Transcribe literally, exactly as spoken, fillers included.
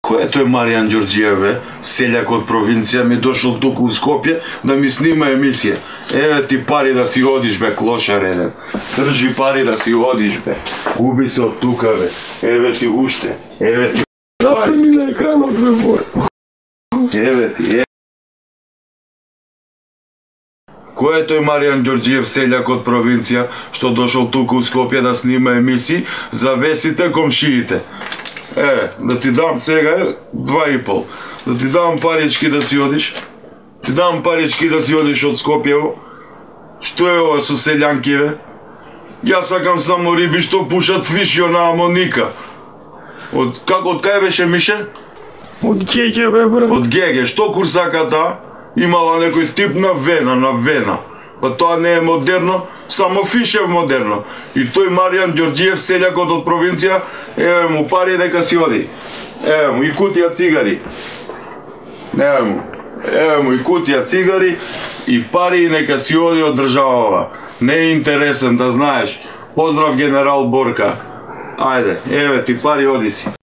Кој е тој Маријан Ѓорѓиев, бе? Селјак од провинција ми дошол туку у Скопје да ми снима емисија. Еве ти пари да си одиш, бе, клошар еден. Држи пари да си одиш, бе. Губи се од тука, бе. Еве ти уште. Еве ти. Зашто ми на екранот, бе, бой? Еве ти, еве. Кој е тој Маријан Ѓорѓиев, селјак од провинција, што дошол туку у Скопје да снима емисии за весите комшиите? Е, да ти дам сега два и пол. Да ти дам парички да си одиш. Ти дам парички да си одиш од Скопјево. Што е ова со селјанки, бе? Јас сакам само риби што пушат фишио на амоника. Од како од кај беше Мише? Од Геге, бе, брат. Од Геге. Што курсаката имала некој тип на вена, на вена. Па тоа не е модерно, само Фишев модерно. И тој Маријан Ѓорѓиев, селјакот од провинција, еве му пари дека си оди. Еве му и кутија цигари. Еве му. Еве му и кутија цигари и пари нека си оди од државава. Не е интересен, да знаеш. Поздрав генерал Борка. Ајде, еве ти пари, оди си.